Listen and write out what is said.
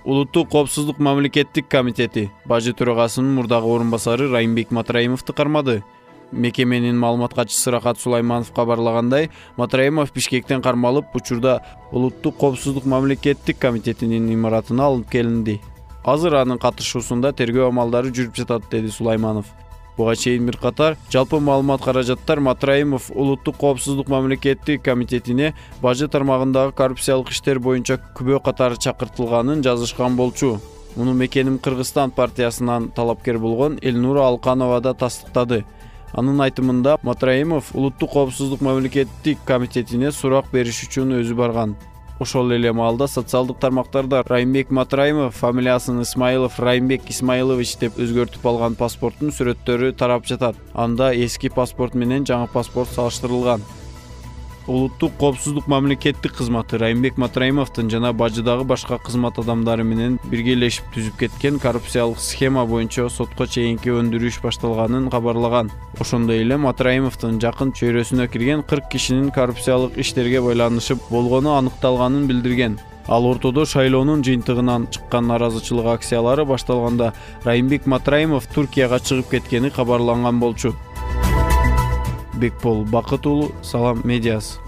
Улуттук коопсуздук мамлекеттик комитети бажы төрагасынын мурдагы орун басары Райымбек Матраимовду кармады. Мекеменин маалымат катчысы Рахат Сулайманов кабарлагандай, Матраимов Бишкектен кармалып, учурда Улуттук коопсуздук мамлекеттик комитетинин имаратына алынып келинди. Азыр анын катышуусунда тергөө амалдары жүрүп жатат, деди Сулайманов. Буга чейин бир катар жалпы маалымат каражаттар Матраимов Улуттук коопсуздук мамлекеттик комитетине бажы тармагындагы коррупциялык иштер боюнча күбө катары чакыртылганын жазышкан болчу. Муну Мекеним Кыргызстан партиясынан талапкер болгон Элнура Алканова да тастыктады. Анын айтымында Матраимов Улуттук коопсуздук мамлекеттик комитетине сурак бериш үчүн өзү барган. Ошол эле маалда социалдык тармактарда Райымбек Матраимов фамилиясын Исмаилов Райымбек Исмаилович деп өзгөртүп алган паспорттун сүрөттөрү тарап жатат. Анда эски паспорт менен жаңы паспорт салыштырылган. Улуттук коопсуздук мамлекеттик кызматы Райымбек Матраимовдун жана бажыдагы башка кызмат адамдары менен биргелешип түзүп кеткен коррупциялык схема боюнча сотко чейинки өндүрүш башталганын кабарлаган. Ошондой эле Матраимовдун жакын чөйрөсүнө кирген 40 кишинин коррупциялык иштерге байланышып болгону аныкталганын билдирген. Ал ортодо шайлоонун жыйынтыгынан чыккан наразычылык акциялары башталганда Райымбек Матраимов Туркияга чыгып кеткени кабарланган болчу. Бекбол Бакыт уулу, Салам медиасы.